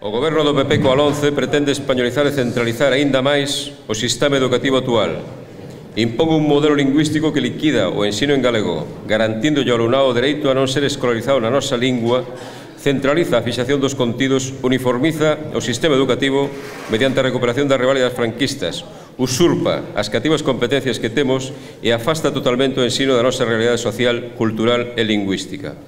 O Goberno do PP coa LOMCE pretende españolizar e centralizar aínda máis o sistema educativo actual. Impón un modelo lingüístico que liquida o ensino en galego, garantindo ao alumnado o dereito a non ser escolarizado na nosa lingua, centraliza a fixación dos contidos, uniformiza o sistema educativo mediante a recuperación das reválidas franquistas, usurpa as cativas competencias que temos e afasta totalmente o ensino da nosa realidade social, cultural e lingüística.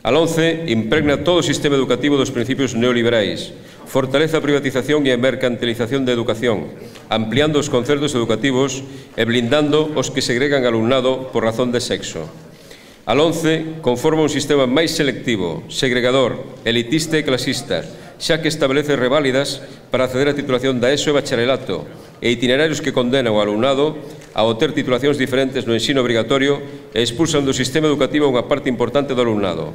A LOMCE impregna todo o sistema educativo dos principios neoliberais, fortalece a privatización e a mercantilización da educación, ampliando os concertos educativos e blindando os que segregan alumnado por razón de sexo. A LOMCE conforma un sistema máis selectivo, segregador, elitista e clasista, xa que establece reválidas para acceder á titulación da ESO e bacharelato e itinerarios que condenan ao alumnado a obter titulacións diferentes no ensino obrigatorio e expulsan do sistema educativo unha parte importante do alumnado.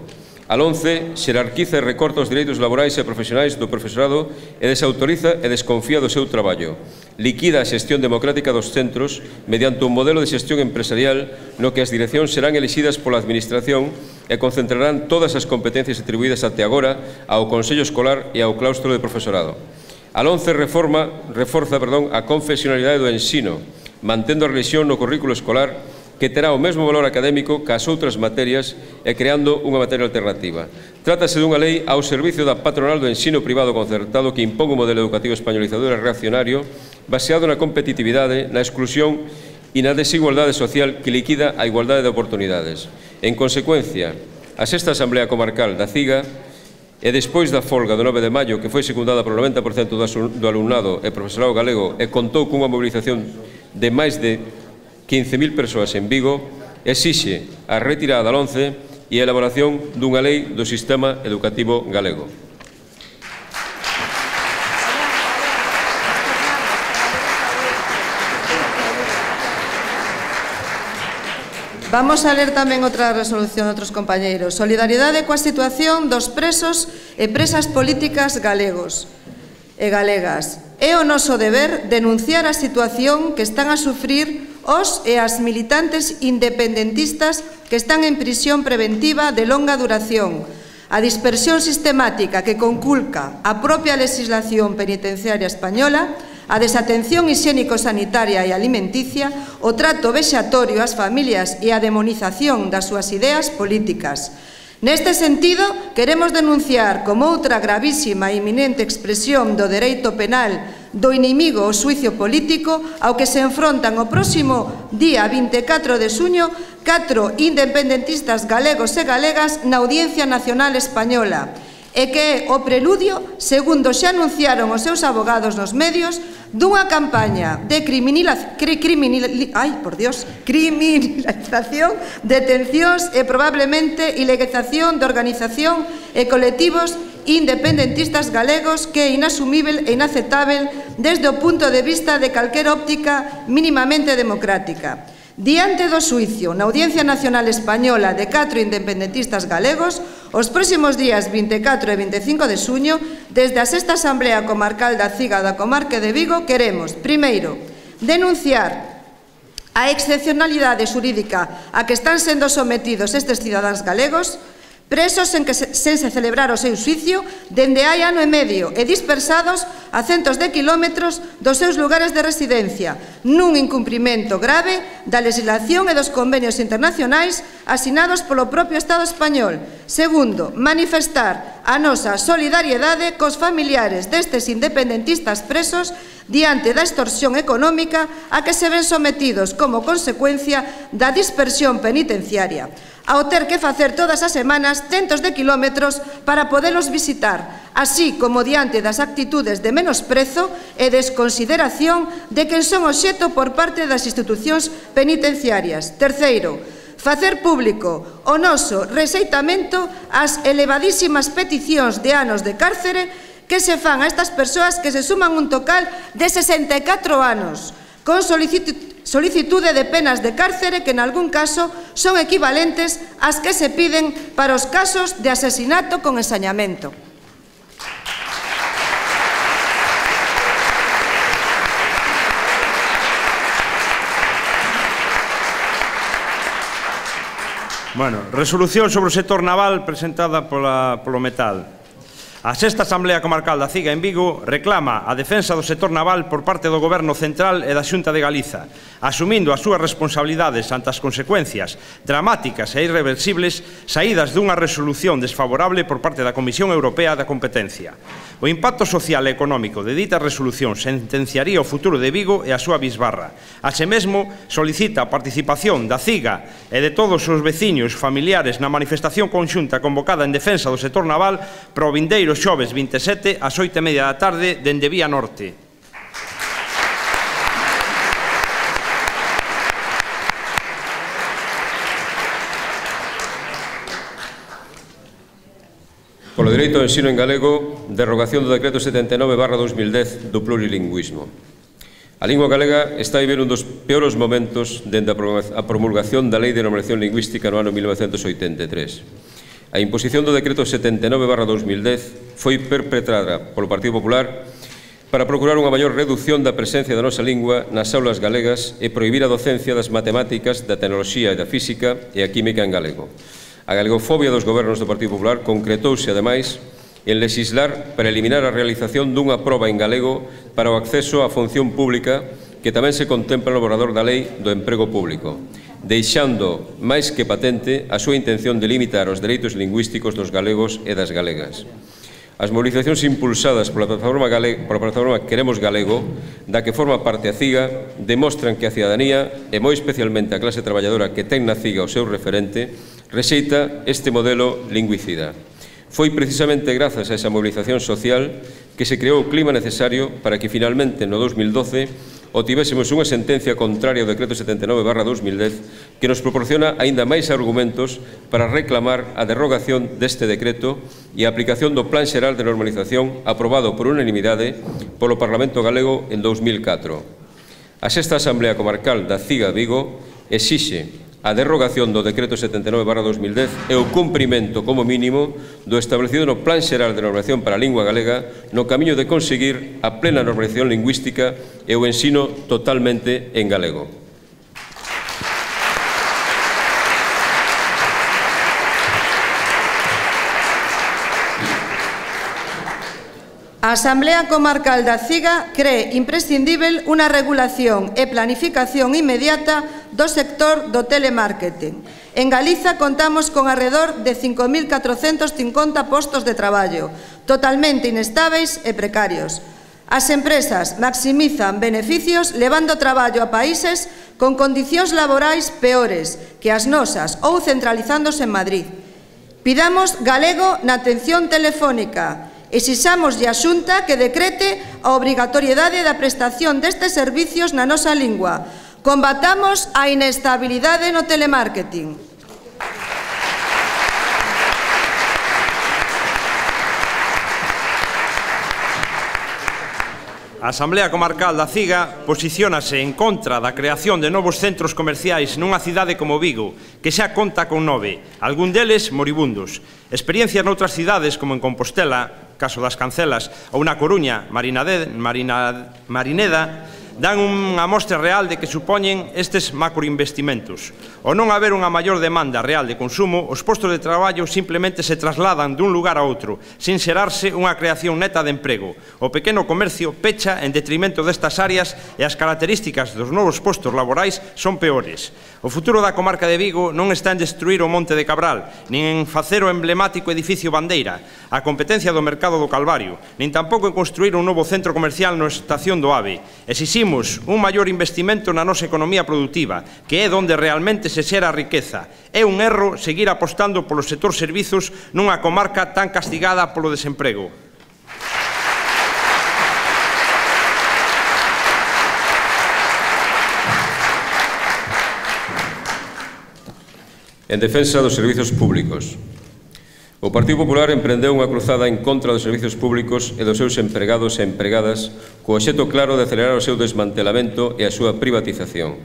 A LOMCE xerarquiza e recorta os dereitos laborais e profesionais do profesorado e desautoriza e desconfía do seu traballo. Liquida a xestión democrática dos centros mediante un modelo de xestión empresarial no que as direccións serán elixidas pola administración e concentrarán todas as competencias atribuídas até agora ao Consello Escolar e ao claustro de profesorado. A LOMCE reforza a confesionalidade do ensino, mantendo a religión no currículo escolar que terá o mesmo valor académico que as outras materias e creando unha materia alternativa. Trátase dunha lei ao servicio da patronal do ensino privado concertado que impón un modelo educativo españolizador e reaccionario baseado na competitividade, na exclusión e na desigualdade social que liquida a igualdade de oportunidades. En consecuencia, a sexta Asamblea Comarcal da CIGA e despois da folga do 9 de maio que foi secundada polo 90% do alumnado e profesorado galego e contou cunha mobilización de máis de 15.000 persoas en Vigo, exixe a retirada da LOMCE e a elaboración dunha lei do sistema educativo galego. Vamos a ler tamén outra resolución de outros compañeiros. Solidariedade coa situación dos presos e presas políticas galegos e galegas. É o noso deber denunciar a situación que están a sufrir os e as militantes independentistas que están en prisión preventiva de longa duración, a dispersión sistemática que conculca a propia legislación penitenciaria española, a desatención hixiénico-sanitaria e alimenticia, o trato vexatorio ás familias e a demonización das súas ideas políticas. Neste sentido, queremos denunciar como outra gravísima e inminente expresión do dereito penal do inimigo o xuicio político ao que se enfrontan o próximo día 24 de xuño 4 independentistas galegos e galegas na Audiencia Nacional Española e que é o preludio, segundo xa anunciaron os seus abogados nos medios, dunha campaña de criminalización, detencións e probablemente ilegalización de organización e colectivos independentistas galegos que é inasumível e inaceptável desde o punto de vista de calquera óptica mínimamente democrática. Diante do xuicio na Audiencia Nacional Española de 4 independentistas galegos, os próximos días 24 e 25 de xuño, desde a sexta Asamblea Comarcal da CIGA da Comarca de Vigo, queremos, primeiro, denunciar a excepcionalidade xurídica a que están sendo sometidos estes cidadáns galegos, presos sen se celebrar o seu xuicio dende hai ano e medio e dispersados a centos de quilómetros dos seus lugares de residencia, nun incumprimento grave da legislación e dos convenios internacionais asinados polo propio Estado español. Segundo, manifestar a nosa solidariedade cos familiares destes independentistas presos diante da extorsión económica a que se ven sometidos como consecuencia da dispersión penitenciaria, ao ter que facer todas as semanas centos de quilómetros para podelos visitar, así como diante das actitudes de menosprezo e desconsideración de quen son obxecto por parte das institucións penitenciarias. Terceiro, facer público o noso rexeitamento ás elevadísimas peticións de anos de cárcere que se fan a estas persoas que se suman un total de 64 anos, con solicitude de penas de cárcere que en algún caso son equivalentes ás que se piden para os casos de asesinato con ensañamento. Bueno, resolución sobre o sector naval presentada polo Metal. A sexta Asamblea Comarcal da Ciga en Vigo reclama a defensa do sector naval por parte do Goberno Central e da Xunta de Galiza, asumindo as súas responsabilidades ante as consecuencias dramáticas e irreversibles saídas dunha resolución desfavorable por parte da Comisión Europea da Competencia. O impacto social e económico de dita resolución sentenciaría o futuro de Vigo e a súa bisbarra. Así mesmo, solicita a participación da Ciga e de todos os veciños familiares na manifestación conxunta convocada en defensa do sector naval para o vindeiro xoves 27 ás 8:30 da tarde dende Vía Norte. Polo dereito ao ensino en galego, derrogación do decreto 79/2010 do plurilingüismo. A lingua galega está a vivir un dos peores momentos dende a promulgación da Lei de Normalización Lingüística no ano 1983. A imposición do decreto 79/2010 foi perpetrada polo Partido Popular para procurar unha maior reducción da presencia da nosa lingua nas aulas galegas e prohibir a docencia das matemáticas, da tecnoloxía e da física e a química en galego. A galegofobia dos gobernos do Partido Popular concretouse, ademais, en legislar para eliminar a realización dunha proba en galego para o acceso á función pública que tamén se contempla no borrador da Lei do Emprego Público, deixando máis que patente a súa intención de limitar os dereitos lingüísticos dos galegos e das galegas. As movilizacións impulsadas pola plataforma Queremos Galego, da que forma parte a Ciga, demostran que a cidadanía, e moi especialmente a clase traballadora que ten na Ciga o seu referente, rexeita este modelo lingüicida. Foi precisamente grazas a esa movilización social que se creou o clima necesario para que finalmente no 2012 obtivésemos unha sentencia contraria ao decreto 79/2010 que nos proporciona aínda máis argumentos para reclamar a derrogación deste decreto e a aplicación do Plan Xeral de Normalización aprobado por unanimidade polo Parlamento Galego en 2004. A sexta Asamblea Comarcal da Ciga Vigo exixe a derrogación do decreto 79/2010 e o cumprimento como mínimo do establecido no Plan Xeral de Normalización para a Lingua Galega no camiño de conseguir a plena normalización lingüística e o ensino totalmente en galego. A Asamblea Comarcal da Ciga cree imprescindível unha regulación e planificación inmediata do sector do telemarketing. En Galiza contamos con alrededor de 5.450 postos de traballo, totalmente inestáveis e precarios. As empresas maximizan beneficios levando traballo a países con condicións laborais peores que as nosas ou centralizándose en Madrid. Pidamos galego na atención telefónica. Exixámoslle á Xunta que decrete a obrigatoriedade da prestación destes servicios na nosa lingua. Combatamos a inestabilidade no telemarketing. A Asamblea Comarcal da Ciga posiciónase en contra da creación de novos centros comerciais nunha cidade como Vigo, que xa conta con 9, algún deles moribundos. Experiencias noutras cidades, como en Compostela, caso das Cancelas, ou na Coruña, Marineda, dan unha mostra real de que supoñen estes macroinvestimentos. O non haber unha maior demanda real de consumo, os postos de traballo simplemente se trasladan dun lugar a outro, sin xerarse unha creación neta de emprego. O pequeno comercio pecha en detrimento destas áreas e as características dos novos postos laborais son peores. O futuro da comarca de Vigo non está en destruir o Monte de Cabral, nin en facer o emblemático edificio Bandeira, a competencia do mercado do Calvario, nin tampouco en construir un novo centro comercial na estación do AVE. Exiximos un maior investimento na nosa economía productiva, que é onde realmente se xera a riqueza. É un erro seguir apostando polo sector servizos nunha comarca tan castigada polo desemprego. En defensa dos servizos públicos. O Partido Popular emprendeu unha cruzada en contra dos servizos públicos e dos seus empregados e empregadas co obxecto claro de acelerar o seu desmantelamento e a súa privatización.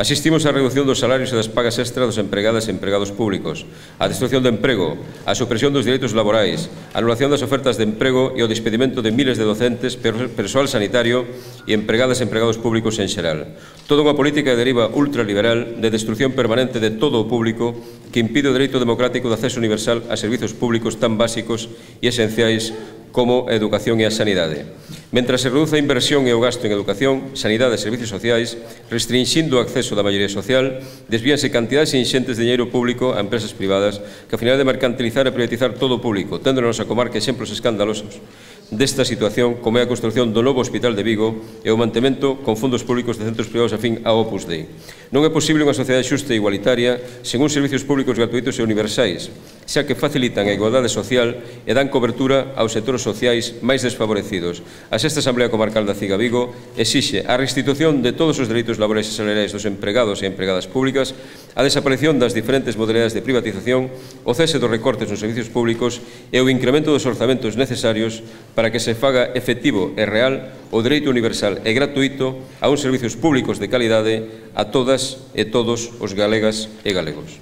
Asistimos á reducción dos salarios e das pagas extra dos empregadas e empregados públicos, á destrucción do emprego, á supresión dos direitos laborais, á anulación das ofertas de emprego e ao despedimento de miles de docentes, persoal sanitario e empregadas e empregados públicos en xeral. Toda unha política de deriva ultraliberal de destrucción permanente de todo o público que impide o dereito democrático de acceso universal a servizos públicos tan básicos e esenciais como a educación e a sanidade. Mentras se reduce a inversión e o gasto en educación, sanidade e servicios sociais, restringindo o acceso da maioría social, desvíanse cantidades inxentes de dinheiro público a empresas privadas que a finalidade de mercantilizar e privatizar todo o público, tendo na nosa comarca exemplos escandalosos desta situación, como é a construción do novo Hospital de Vigo e o mantemento con fondos públicos de centros privados afín ao Opus Dei. Non é posible unha sociedade xusta e igualitaria sen uns servicios públicos gratuitos e universais, xa que facilitan a igualdade social e dan cobertura aos sectores sociais máis desfavorecidos. A Sexta Asamblea Comarcal da Ciga Vigo exixe a restitución de todos os dereitos laborais e salariais dos empregados e empregadas públicas, a desaparición das diferentes modalidades de privatización, o cese dos recortes nos servicios públicos e o incremento dos orzamentos necesarios para que se faga efectivo e real o dereito universal e gratuito a uns servicios públicos de calidade a todas e todos os galegas e galegos.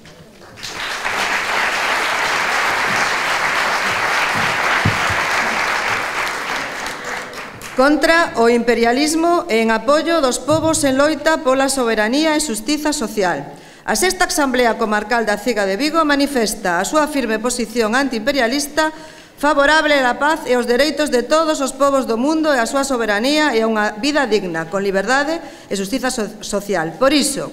Contra o imperialismo e en apoio dos povos en loita pola soberanía e xustiza social. A Sexta Asamblea Comarcal da Ciga de Vigo manifesta a súa firme posición antiimperialista favorable á paz e aos dereitos de todos os povos do mundo e a súa soberanía e a unha vida digna, con liberdade e xustiza social. Por iso,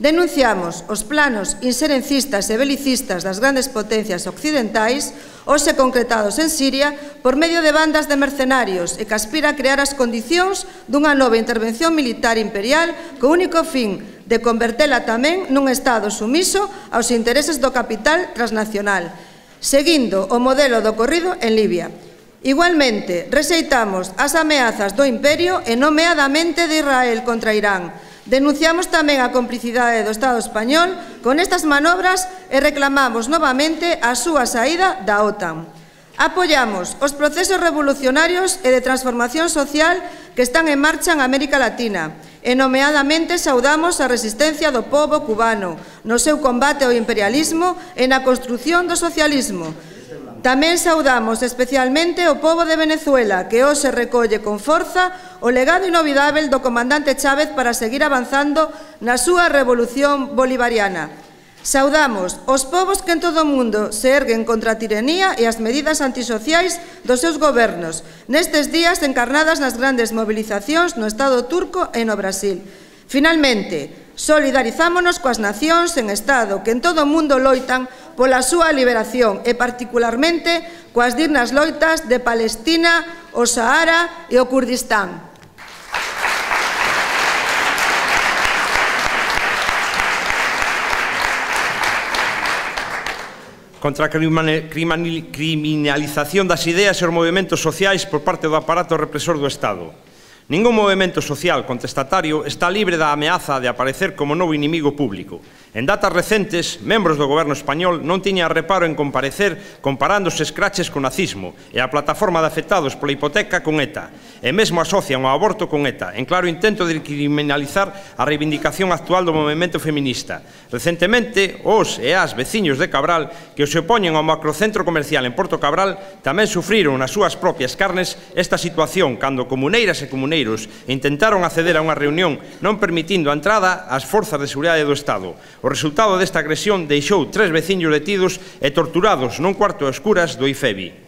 denunciamos os planos inserencistas e belicistas das grandes potencias occidentais, hoxe concretados en Siria, por medio de bandas de mercenarios e que aspira a crear as condicións dunha nova intervención militar imperial co único fin de convertela tamén nun Estado sumiso aos intereses do capital transnacional, seguindo o modelo do ocorrido en Libia. Igualmente, rexeitamos as ameazas do imperio e nomeadamente de Israel contra Irán. Denunciamos tamén a complicidade do Estado español con estas manobras e reclamamos novamente a súa saída da OTAN. Apoiamos os procesos revolucionarios e de transformación social que están en marcha en América Latina e nomeadamente saudamos a resistencia do pobo cubano no seu combate ao imperialismo e na construción do socialismo. Tamén saudamos especialmente o pobo de Venezuela, que hoxe recolle con forza o legado inolvidável do comandante Chávez para seguir avanzando na súa revolución bolivariana. Saudamos os povos que en todo o mundo se erguen contra a tiranía e as medidas antisociais dos seus gobernos, nestes días encarnadas nas grandes movilizacións no Estado turco e no Brasil. Finalmente, solidarizámonos coas nacións en Estado que en todo o mundo loitan pola súa liberación e particularmente coas dignas loitas de Palestina, o Sahara e o Kurdistán. Contra a criminalización das ideas e os movementos sociais por parte do aparato represor do Estado. Ningún movemento social contestatario está libre da ameaza de aparecer como novo inimigo público. En datas recentes, membros do goberno español non tiñan reparo en comparecer comparando os escraches co nazismo e a plataforma de afectados pola hipoteca con ETA, e mesmo asocian o aborto con ETA, en claro intento de criminalizar a reivindicación actual do movemento feminista. Recentemente, os e as veciños de Cabral que se opoñen ao macrocentro comercial en Porto Cabral tamén sufriron nas súas propias carnes esta situación cando comuneiras e comuneiros intentaron acceder a unha reunión non permitindo a entrada ás forzas de seguridade do Estado. O resultado desta agresión deixou 3 veciños detidos e torturados nun cuarto a escuras do IFEBI.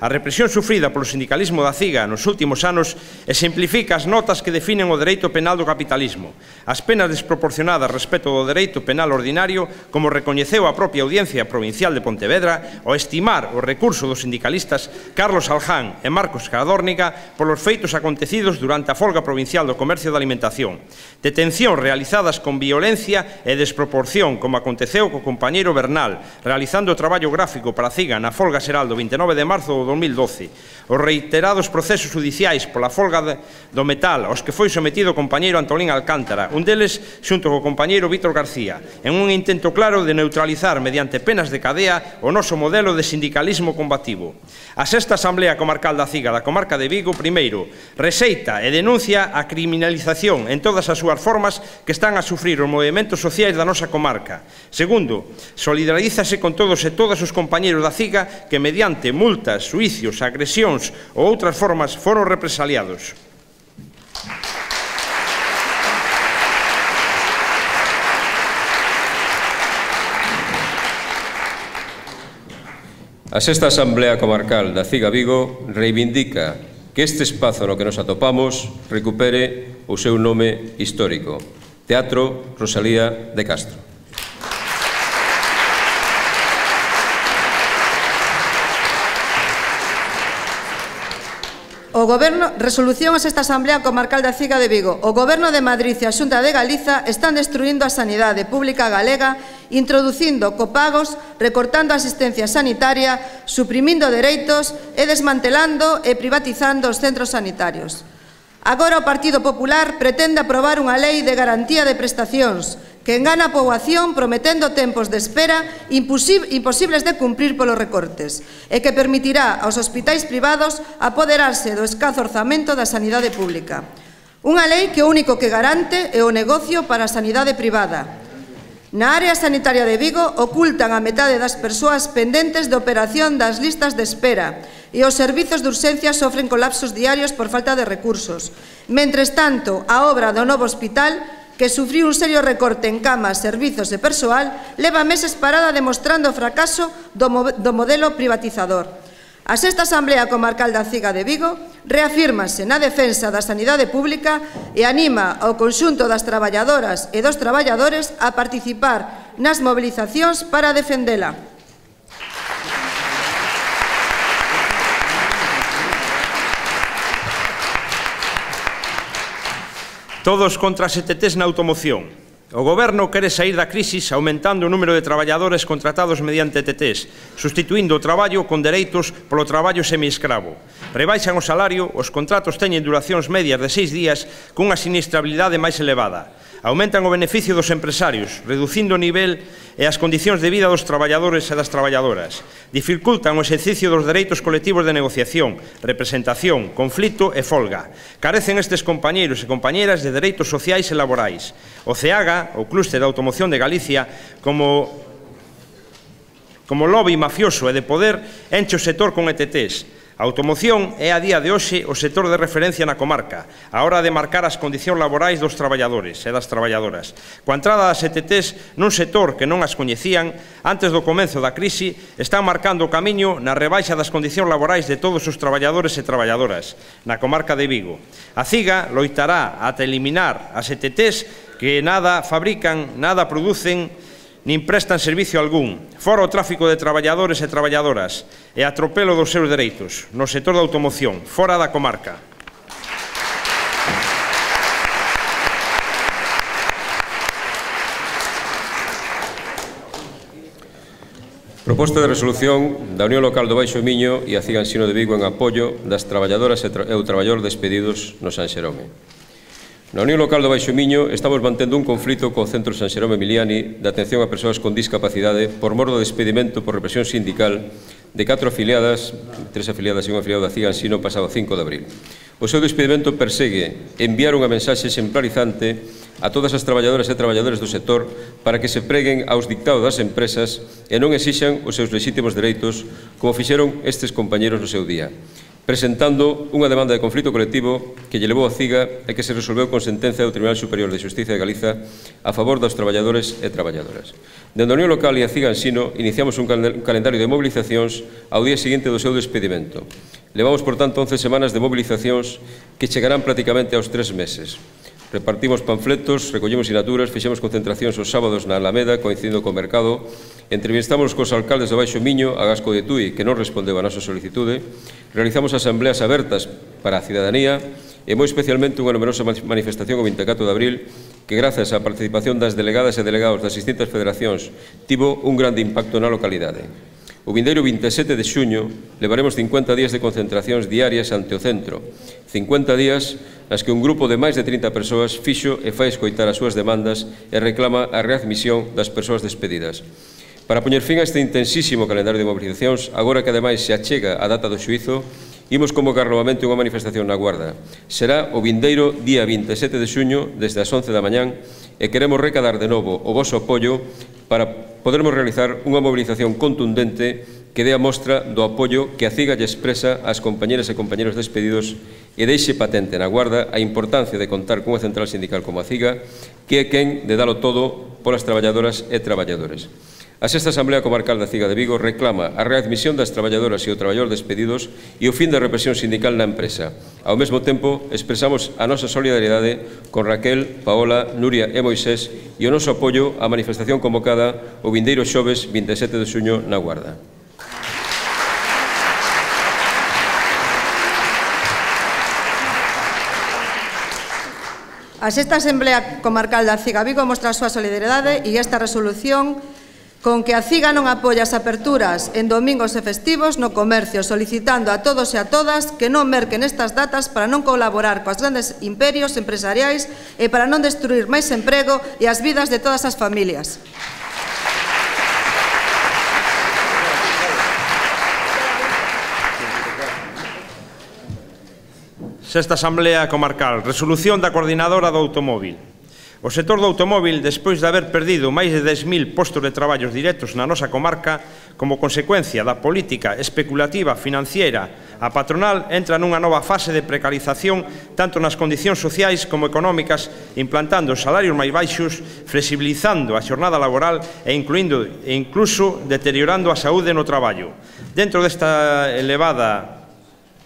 A represión sufrida polo sindicalismo da Ciga nos últimos anos exemplifica as notas que definen o dereito penal do capitalismo. As penas desproporcionadas respecto do dereito penal ordinario, como recoñeceu a propia Audiencia Provincial de Pontevedra, ao estimar o recurso dos sindicalistas Carlos Alján e Marcos Cadórnica polos feitos acontecidos durante a folga provincial do comercio de alimentación. Detencións realizadas con violencia e desproporción, como aconteceu co compañeiro Bernal, realizando o traballo gráfico para a Ciga na folga xeral do 29 de marzo do 2012, os reiterados procesos judiciais pola folga do metal aos que foi sometido o compañeiro Antolín Alcántara, un deles xunto co compañeiro Vítor García, en un intento claro de neutralizar mediante penas de cadea o noso modelo de sindicalismo combativo. A Sexta Asamblea Comarcal da Ciga da comarca de Vigo, primeiro, rexeita e denuncia a criminalización en todas as súas formas que están a sufrir os movementos sociais da nosa comarca. Segundo, solidarízase con todos e todas os compañeros da Ciga que mediante multas, suicios, agresións ou outras formas foron represaliados. A sexta Asamblea Comarcal da CIGA Vigo reivindica que este espazo no que nos atopamos recupere o seu nome histórico, Teatro Rosalía de Castro. Resolución a esta Asamblea Comarcal da CIGA de Vigo. O Goberno de Madrid e a Xunta de Galiza están destruindo a sanidade pública galega, introducindo copagos, recortando a asistencia sanitaria, suprimindo dereitos e desmantelando e privatizando os centros sanitarios. Agora o Partido Popular pretende aprobar unha lei de garantía de prestacións que engana a poboación prometendo tempos de espera imposibles de cumprir polos recortes e que permitirá aos hospitais privados apoderarse do escaso orzamento da sanidade pública. Unha lei que o único que garante é o negocio para a sanidade privada. Na área sanitaria de Vigo ocultan a metade das persoas pendentes de operación das listas de espera e os servizos de urxencia sofren colapsos diarios por falta de recursos. Mentres tanto, a obra do novo hospital, que sufriu un serio recorte en camas, servizos e persoal, leva meses parada demostrando o fracaso do modelo privatizador. A sexta Asamblea Comarcal da CIGA de Vigo reafírmase na defensa da sanidade pública e anima ao conxunto das traballadoras e dos traballadores a participar nas movilizacións para defendela. Todos contra as ETTs na automoción. O Goberno quere saír da crisis aumentando o número de traballadores contratados mediante ETTs, sustituindo o traballo con dereitos polo traballo semiescravo. Rebaixan o salario, os contratos teñen duracións medias de 6 días cunha sinistrabilidade máis elevada. Aumentan o beneficio dos empresarios, reducindo o nivel e as condicións de vida dos traballadores e das traballadoras. Dificultan o exercicio dos dereitos colectivos de negociación, representación, conflito e folga. Carecen estes compañeiros e compañeras de dereitos sociais e laborais. O CEAGA, o Clúster de Automoción de Galicia, como lobby mafioso e de poder, enche o sector con ETTs. A automoción é a día de hoxe o sector de referencia na comarca, a hora de marcar as condicións laborais dos traballadores e das traballadoras. Coa entrada das ETTs nun sector que non as coñecían, antes do comenzo da crise, están marcando o camiño na rebaixa das condicións laborais de todos os traballadores e traballadoras na comarca de Vigo. A CIGA loitará ata eliminar as ETTs que nada fabrican, nada producen, nin prestan servicio algún, fora o tráfico de traballadores e traballadoras e atropelo dos seus dereitos no sector da automoción, fora da comarca. Proposta de resolución da Unión Local do Baixo Miño e a CIGA Ensino de Vigo en apoio das traballadoras e o traballador despedidos no San Xerome. Na Unión Local do Baixo Miño estamos mantendo un conflito co Centro San Xerome Emiliani de atención a persoas con discapacidade por mor do despedimento por represión sindical de 4 afiliadas, 3 afiliadas e un afiliado da CIGA Ensino pasado 5 de abril. O seu despedimento persegue enviar unha mensaxe exemplarizante a todas as traballadoras e traballadores do sector para que se preguen aos dictados das empresas e non exixan os seus lexítimos dereitos como fixeron estes compañeros no seu día, presentando unha demanda de conflito colectivo que lle levou a CIGA e que se resolveu con sentencia do Tribunal Superior de Xustiza de Galiza a favor dos traballadores e traballadoras. Dende a Unión Local e a CIGA Ensino iniciamos un calendario de movilizacións ao día seguinte do seu despedimento. Levamos, por tanto, 11 semanas de movilizacións que chegarán prácticamente aos 3 meses. Repartimos panfletos, recollemos sinaturas, fixemos concentracións os sábados na Alameda, coincidindo co mercado, entrevistamos cos alcaldes do Baixo Miño, a Gasco de Tui, que non respondeu a nosa solicitude, realizamos asambleas abertas para a cidadanía e moi especialmente unha numerosa manifestación o 24 de abril que, grazas á participación das delegadas e delegados das distintas federacións, tivo un grande impacto na localidade. O vindeiro 27 de xuño levaremos 50 días de concentracións diarias ante o centro, 50 días nas que un grupo de máis de 30 persoas fixo e fai escoitar as súas demandas e reclama a readmisión das persoas despedidas. Para poñer fin a este intensísimo calendario de movilizacións, agora que ademais se achega a data do xuízo, imos convocar novamente unha manifestación na Guarda. Será o vindeiro día 27 de xuño desde as 11 da mañán e queremos recadar de novo o voso apoio para podermos realizar unha movilización contundente que dé a mostra do apoio que a CIGA lle expresa ás compañeras e compañeros despedidos e deixe patente na Guarda a importancia de contar cunha central sindical como a CIGA, que é quen de dalo todo polas traballadoras e traballadores. A Sexta Asamblea Comarcal da Ciga de Vigo reclama a readmisión das traballadoras e o traballador despedidos e o fin da represión sindical na empresa. Ao mesmo tempo, expresamos a nosa solidariedade con Raquel, Paola, Nuria e Moisés e o noso apoio á manifestación convocada o vindeiro xoves 27 de xuño na Guarda. A Sexta Asamblea Comarcal da Ciga Vigo mostra a súa solidariedade e esta resolución con que a Ciga non apoia as aperturas en domingos e festivos no comercio, solicitando a todos e a todas que non merquen estas datas para non colaborar coas grandes imperios empresariais e para non destruir máis emprego e as vidas de todas as familias. Sexta Asamblea Comarcal, resolución da Coordinadora do Automóvil. O sector do automóvil, despois de haber perdido máis de 10.000 postos de traballos directos na nosa comarca, como consecuencia da política especulativa financiera, a patronal entra nunha nova fase de precarización tanto nas condicións sociais como económicas, implantando salarios máis baixos, flexibilizando a xornada laboral e incluso deteriorando a saúde no traballo. Dentro desta elevada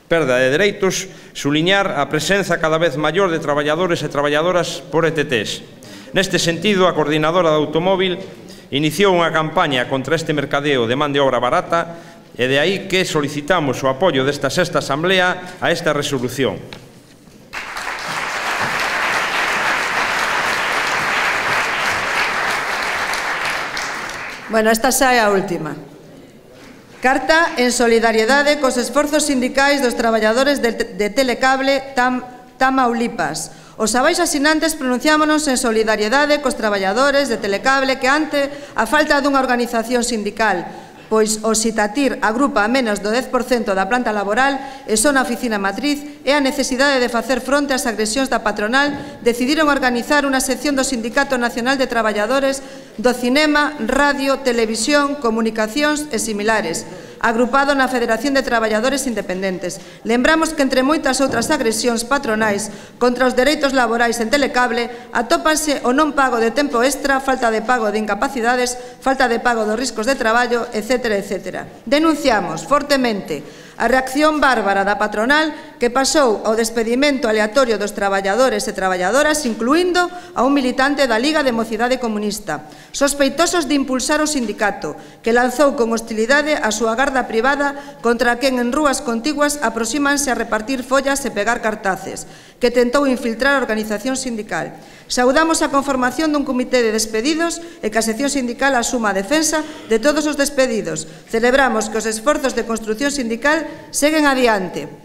perda de dereitos, suliñar a presenza cada vez maior de traballadores e traballadoras por ETTs. Neste sentido, a Coordinadora do Automóvil iniciou unha campaña contra este mercadeo de man de obra barata e de aí que solicitamos o apoio desta Sexta Asamblea a esta resolución. Bueno, esta xa é a última. Carta en solidariedade cos esforzos sindicais dos traballadores de Telecable Tamaulipas. Os abaixo asinantes pronunciámonos en solidariedade cos traballadores de Telecable que ante a falta dunha organización sindical, pois o Sitatir agrupa a menos do 10% da planta laboral e son a oficina matriz e a necesidade de facer fronte ás agresións da patronal, decidiron organizar unha sección do Sindicato Nacional de Traballadores do Cinema, Radio, Televisión, Comunicacións e similares, agrupado na Federación de Traballadores Independentes. Lembramos que entre moitas outras agresións patronais contra os dereitos laborais en Telecable atópanse o non pago de tempo extra, falta de pago de incapacidades, falta de pago dos riscos de traballo, etc. etc. Denunciamos fortemente a reacción bárbara da patronal que pasou ao despedimento aleatorio dos traballadores e traballadoras, incluindo a un militante da Liga de Mocidade Comunista, sospeitosos de impulsar o sindicato, que lanzou con hostilidade a súa garda privada contra quen en rúas contiguas aproxímanse a repartir follas e pegar cartaces, que tentou infiltrar a organización sindical. Saudamos a conformación dun comité de despedidos e que a sección sindical asuma a defensa de todos os despedidos. Celebramos que os esforzos de construción sindical seguen adiante.